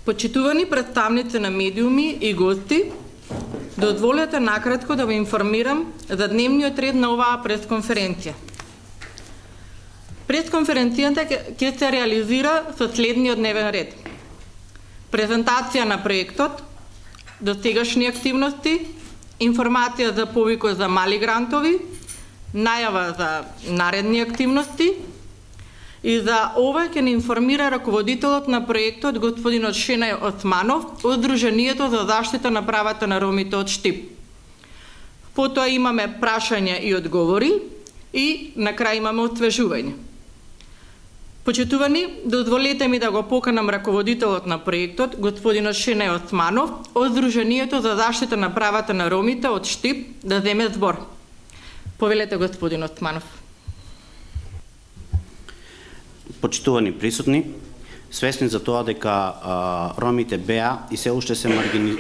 Почитувани представници на медиуми и гости, дозволете накратко да ве информирам за дневниот ред на оваа пресконференција. Пресконференцијата ќе се реализира со следниот дневен ред: презентација на проектот, достигашни активности, информација за повикот за мали грантови, најава за наредни активности. И за ова ќе ни информира раководителот на проектот господин Шенај Османов од Сдруженијето за заштита на правата на ромите од Штип. Потоа имаме прашања и одговори и на крај имаме освежување. Почитувани, дозволете ми да го поканам раководителот на проектот господин Шенај Османов од Сдруженијето за заштита на правата на ромите од Штип да земе збор. Повелете, господин Османов. Почитувани присутни, свесни за тоа дека ромите беа и се уште се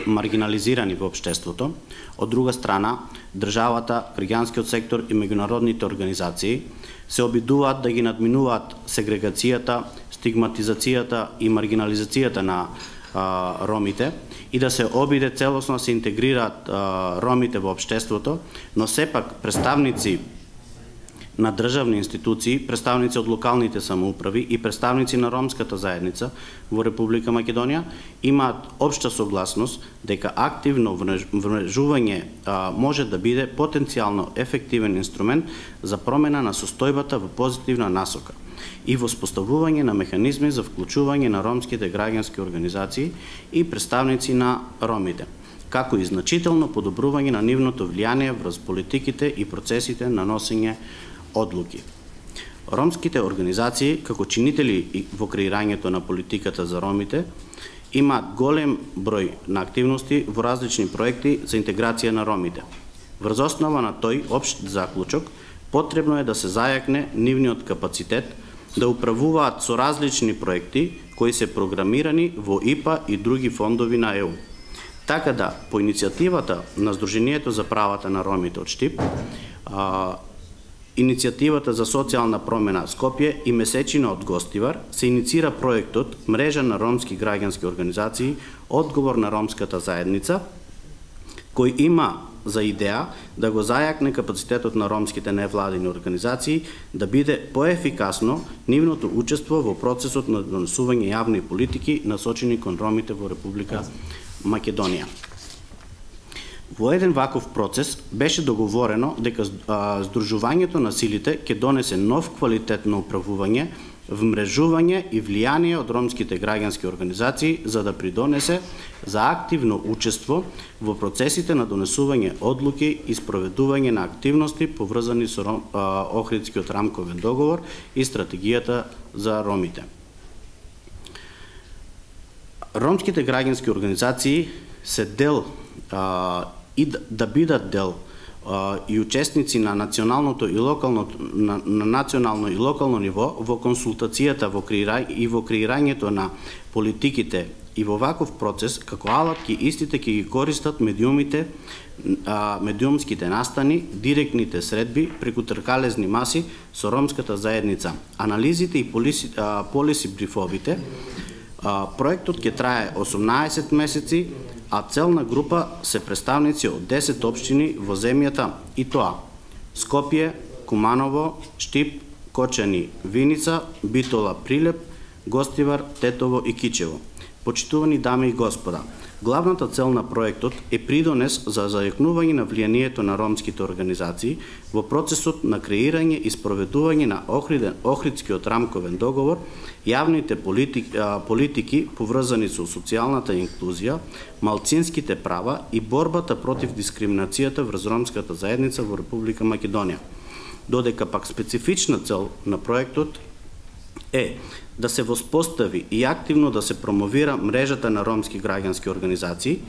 маргинализирани во општеството, од друга страна, државата, граѓанскиот сектор и меѓународните организации се обидуваат да ги надминуваат сегрегацијата, стигматизацијата и маргинализацијата на ромите и да се обиде целосно да се интегрираат ромите во општеството, но сепак представници на државни институции, представници од локалните самоуправи и представници на ромската заедница во Република Македонија имаат општа согласност дека активно вмрежување може да биде потенцијално ефективен инструмент за промена на состојбата во позитивна насока и воспоставување на механизми за вклучување на ромските граѓански организации и представници на ромите, како и значително подобрување на нивното влијание врз политиките и процесите на носење одлуки. Ромските организации, како чинители во креирањето на политиката за ромите, имаат голем број на активности во различни проекти за интеграција на ромите. Врз основа на тој општ заклучок, потребно е да се зајакне нивниот капацитет да управуваат со различни проекти кои се програмирани во ИПА и други фондови на ЕУ. Така да, по иницијативата на Сдруженијето за правата на ромите од Штип, Иницијативата за социјална промена Скопје и Месечина од Гостивар се иницира проектот Мрежа на ромски граѓански организации Одговор на ромската заедница, кој има за идеја да го зајакне капацитетот на ромските невладини организации да биде поефикасно нивното учество во процесот на донесување јавни политики насочени кон ромите во Република Македонија. Во еден ваков процес беше договорено дека здружувањето на силите ќе донесе нов квалитет на управување, вмрежување и влијание од ромските граѓански организации за да придонесе за активно учество во процесите на донесување одлуки и спроведување на активности поврзани со Охридскиот рамковен договор и стратегијата за ромите. Ромските граѓански организации се дел и да бидат дел и учесници на националното и национално и локално ниво во консултацијата во креирањето на политиките и во ваков процес како алатки истите ќе ги користат медиумските настани, директните средби преку тркалезни маси со ромската заедница, анализите и полиси брифовите. Проектот ќе трае 18 месеци, а целна група се представници од 10 општини во земјата и тоа: Скопје, Куманово, Штип, Кочани, Виница, Битола, Прилеп, Гостивар, Тетово и Кичево. Почитувани дами и господа, главната цел на проектот е придонес за зајакнување на влијанието на ромските организации во процесот на креирање и спроведување на Охридскиот рамковен договор, јавните политики поврзани со социјалната инклузија, малцинските права и борбата против дискриминацијата врз ромската заедница во Република Македонија. Додека пак специфична цел на проектот е да се воспостави и активно да се промовира мрежата на ромски граѓански организации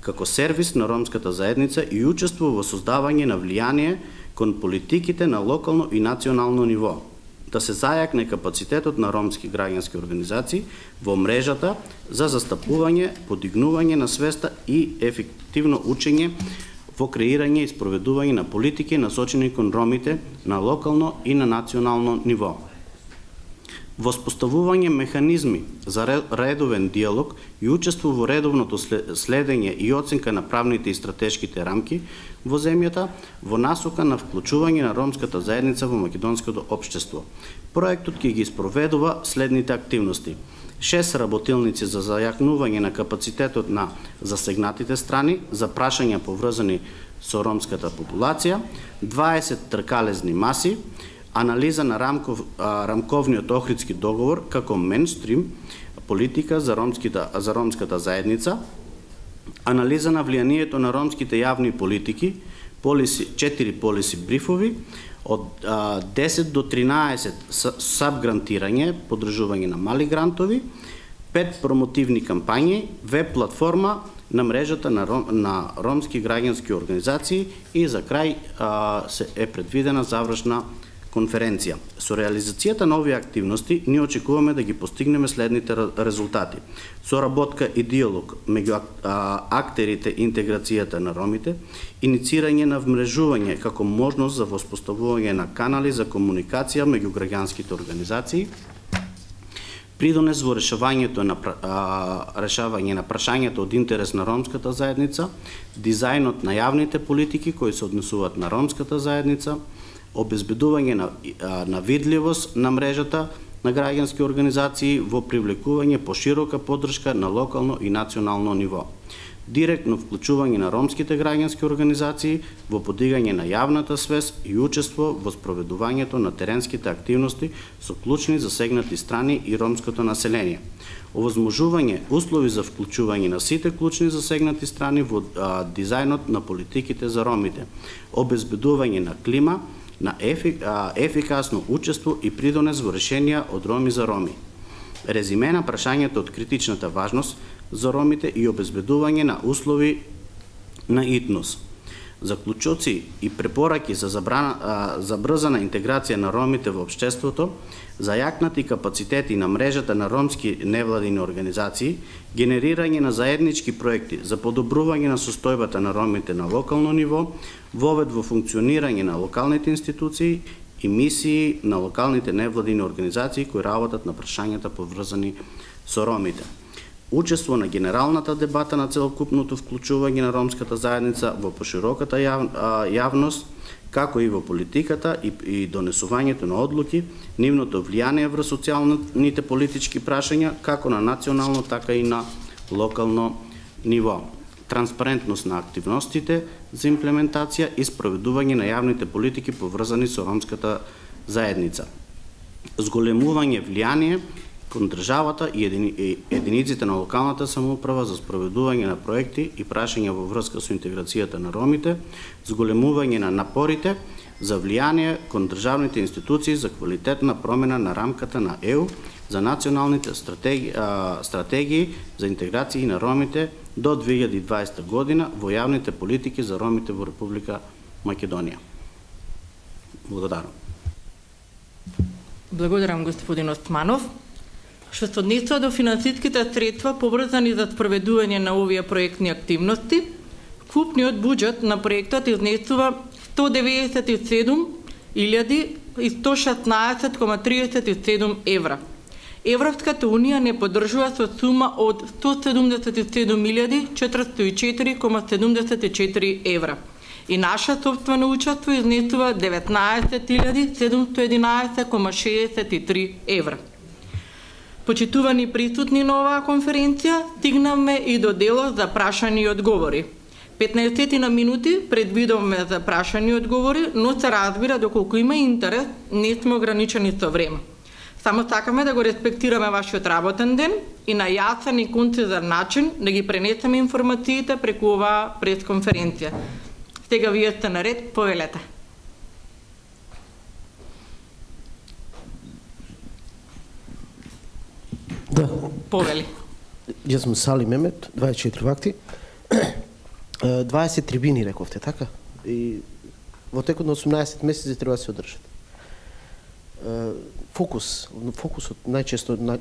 како сервис на ромската заедница и учество во создавање на влијание кон политиките на локално и национално ниво, да се зајакне капацитетот на ромски граѓански организации во мрежата за застапување, подигнување на свеста и ефективно учење во креирање и спроведување на политики насочени кон ромите на локално и на национално ниво. Воспоставување механизми за редовен диалог и учество во редовното следење и оценка на правните и стратешките рамки во земјата во насока на вклучување на ромската заедница во македонското општество. Проектот ќе ги спроведува следните активности: 6 работилници за зајакнување на капацитетот на засегнатите страни за прашања поврзани со ромската популација, 20 тркалезни маси, анализа на рамковниот Охридски договор како мейнстрим политика за ромската заедница, анализа на влијанието на ромските јавни политики, 4 полиси брифови, од 10 до 13 сабгрантирање, подржување на мали грантови, 5 промотивни кампањи, веб платформа на мрежата на ромски граѓански организации и за крај е предвидена завршна конференција. Со реализацијата на овие активности ние очекуваме да ги постигнеме следните резултати: соработка и диалог меѓу актерите и интеграцијата на ромите, иницирање на вмрежување како можност за воспоставување на канали за комуникација меѓу граѓанските организации, придонес во решавање на прашањето од интерес на ромската заедница, дизајнот на јавните политики кои се однесуваат на ромската заедница, обезбедување на видливост на мрежата на граѓански организации во привлекување поширока поддршка на локално и национално ниво, директно вклучување на ромските граѓански организации во подигање на јавната свест и учество во спроведувањето на теренските активности со клучни засегнати страни и ромското население, овозможување услови за вклучување на сите клучни засегнати страни во дизајнот на политиките за ромите, обезбедување на клима на ефикасно учество и придонес во решенија од роми за роми. Резиме на прашањето од критичната важност за ромите и обезбедување на услови на итнос. Заклучоци и препораки за брзана интеграција на ромите во општеството, зајакнати капацитети на мрежата на ромски невладини организации, генерирање на заеднички проекти за подобрување на состојбата на ромите на локално ниво, вовед во функционирање на локалните институции и мисии на локалните невладини организации кои работат на прашањата поврзани со ромите. Учество на генералната дебата на целокупното вклучување на ромската заедница во пошироката јавност, како и во политиката и донесувањето на одлуки, нивното влијание врз социјалните политички прашања, како на национално, така и на локално ниво. Транспарентност на активностите за имплементација и спроведување на јавните политики поврзани со ромската заедница. Зголемување влијание кон државата и единиците на локалната самоуправа за спроведување на проекти и прашања во врска со интеграцијата на ромите, зголемување на напорите за влијание кон државните институции за квалитетна промена на рамката на ЕУ за националните стратегии за интеграција на ромите до 2020 година во јавните политики за ромите во Република Македонија. Благодарам. Благодарам, господин Османов. Што се однесува до финансиските средства поврзани за спроведување на овие проектни активности, вкупниот буџет на проектот изнесува 197.116,37 евра. Европската Унија не поддржува со сума од 177.404,74 евра. И наша собствено учество изнесува 19.711,63 евра. Почитувани присутни на оваа конференција, стигнаме и до делот за прашања и одговори. 15 минути предвидовме за прашања и одговори, но се разбира доколку има интерес, не сме ограничени со време. Само сакаме да го респектираме вашиот работен ден и на јасен и концизен начин да ги пренесеме информациите преку оваа пресконференција. Сега вие сте наред, повелете. Да. Повели. Јас сум Сали Мемет, 24 вакти. 20 трибини рековте, така? И во текот на 18 месеци треба да се одржат. Фокусот најчесто на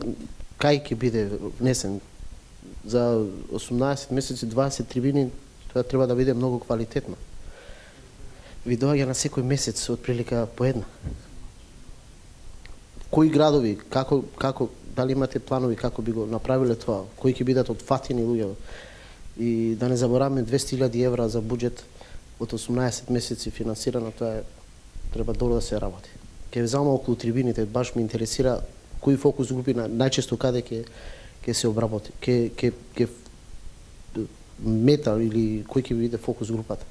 кај ќе биде внесен за 18 месеци 20 трибини, тоа треба да биде многу квалитетно. Ви доаѓа на секој месец од прилика по една. кои градови, како дали имате планови како би го направиле тоа, кои ќе бидат отфатени луѓе. И да не забораваме 200.000 евра за буџет од 18 месеци финансирано, тоа треба добро да се работи. Ќе взема околу трибините, баш ме интересира кои фокус групи најчесто каде ќе се обработи, ќе мета или кој ќе биде фокус групата.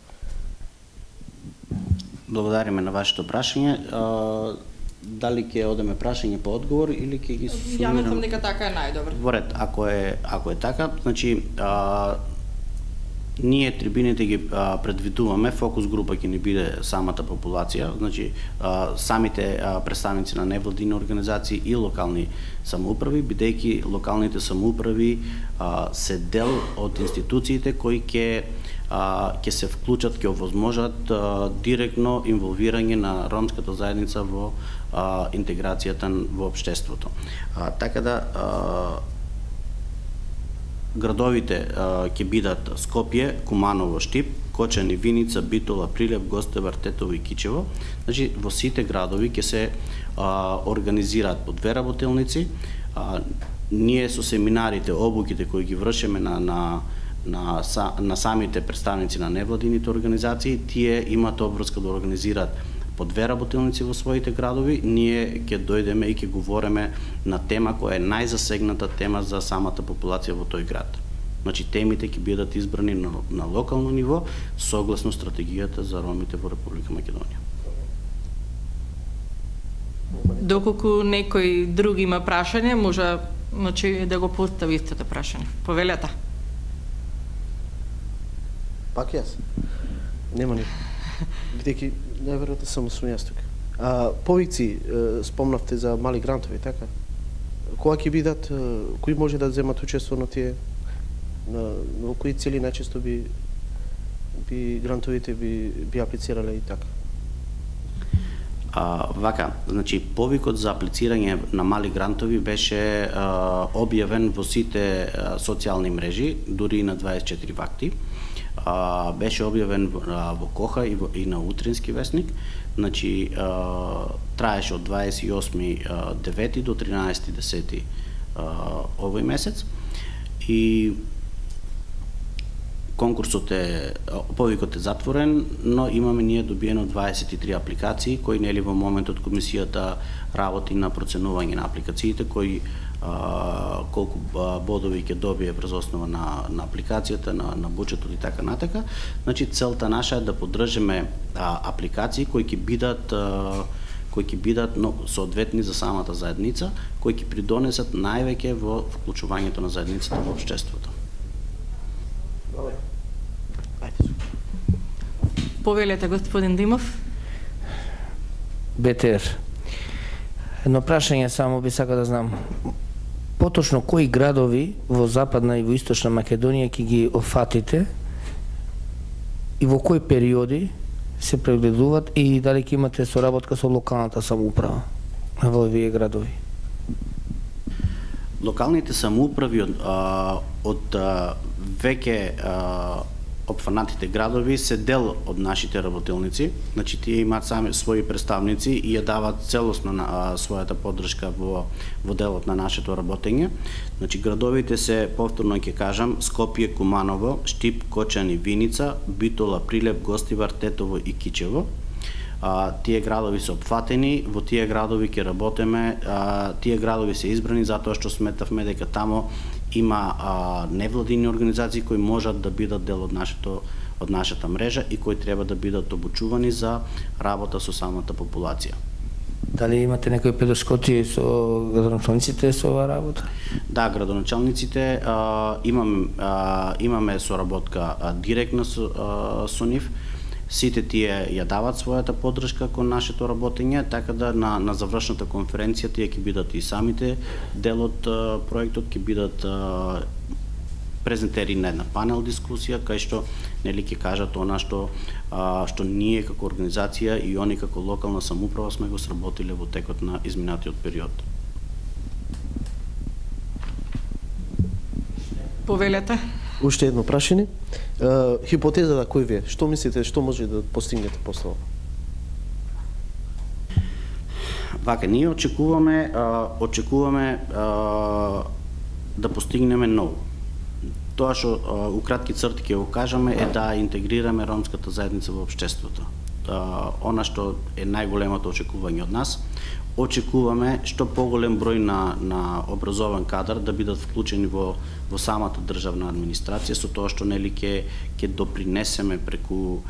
Благодариме на вашето прашање. Дали ќе одеме прашање по одговор или ќе ги сумираме? Ја мислам дека така е најдобро. Во ред, ако е така, значи ние трибините ги предвидуваме, фокус група ќе ни биде самата популација, значи самите представници на невладини организации и локални самоуправи, бидејќи локалните самоуправи се дел од институциите кои ќе се вклучат, ќе овозможат директно инволвирање на ромската заедница во интеграцијата во општеството. Така да градовите ќе бидат Скопје, Куманово, Штип, Кочани, Виница, Битола, Прилеп, Гостевар, Тетово и Кичево. Значи во сите градови ќе се организираат по 2 работелници. Ние со семинарите, обуките кои ги вршиме на самите представници на невладините организации, тие имаат обврска да организираат по 2 работелници во своите градови. Ние ќе дојдеме и ќе говориме на тема која е најзасегната тема за самата популација во тој град. Значи темите ќе бидат избрани на локално ниво согласно стратегијата за ромите во Република Македонија. Доколку некој друг има прашање, може да го постави истото прашање. Повелете. Пак јас. Нема никој. Бидејќи најверојатно само сум јас тука. Повици спомнавте за мали грантови, така? Кога ќе бидат, кои може да земат учество на тие, во кои цели најчесто би грантовите би аплицирале и така? Вака, значи повикот за аплицирање на мали грантови беше објавен во сите социјални мрежи, дури и на 24 вакти. Беше објавен во Коха и на Утрински весник. Значи траеше од 28.9 до 13.10 овој месец. И конкурсот повикот е затворен, но имаме ние добиено 23 апликации кои нели во моментот комисијата работи на проценување на апликациите, кои колку бодови ќе добие врз основа на апликацијата, на буџетот и така натака. Значи целта наша е да поддржиме апликации кои ќе бидат соодветни за самата заедница, кои ќе придонесат највеќе во вклучувањето на заедницата во општеството. Повелете, господин Димов. БТР. Едно прашање само би сакал да знам. Поточно кои градови во Западна и во Источна Македонија ќе ги офатите и во кои периоди се прегледуваат и дали ќе имате соработка со локалната самоуправа во овие градови? Локалните самоуправи од веќе опфанатите градови се дел од нашите работелници, значи тие имаат сами своји представници и ја даваат целосно на својата поддршка во делот на нашето работење. Значи градовите се, повторно ќе кажам, Скопје, Куманово, Штип, Кочани, Виница, Битола, Прилеп, Гостивар, Тетово и Кичево. Тие градови се опфатени, во тие градови ќе работиме, тие градови се избрани затоа што сметавме дека тамо има невладини организации кои можат да бидат дел од нашата мрежа и кои треба да бидат обучувани за работа со самата популација. Дали имате некои предоскоти со градоначалниците со оваа работа? Да, градоначалниците имаме соработка директна со нив. Сите тие ја дават својата поддршка кон нашето работење, така да на завршната конференција тие ќе бидат и самите дел од проектот, ќе бидат презентери на една панел дискусија, кај што нели ќе кажат она што ние како организација и они како локална самоуправа сме го сработиле во текот на изминатиот период. Повелете. Уште едно прашање. Хипотезата кој вие? Што мислите, што може да постигнете после ова? Вака, ние очекуваме да постигнеме ново. Тоа што у кратки црти ќе го кажеме е да интегрираме ромската заедница во општеството. Она што е најголемото очекување од нас, очекуваме што поголем број на образован кадар да бидат вклучени во самата државна администрација, со тоа што нели ќе допринесеме преку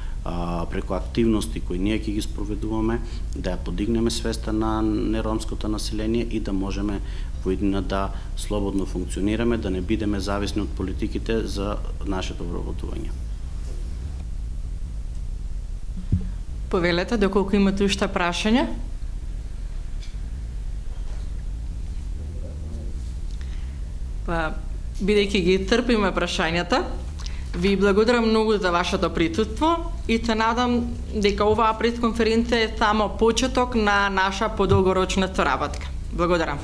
активности кои ние ќе ги спроведуваме, да ја подигнеме свеста на неромското население и да можеме поедина да слободно функционираме, да не бидеме зависни од политиките за нашето вработување. Повелете, доколку имате уште прашања? Па, бидејќи ги трпиме прашањата, ви благодарам многу за вашето присуство и се надам дека оваа пресконференција е само почеток на наша подолгорочна соработка. Благодарам.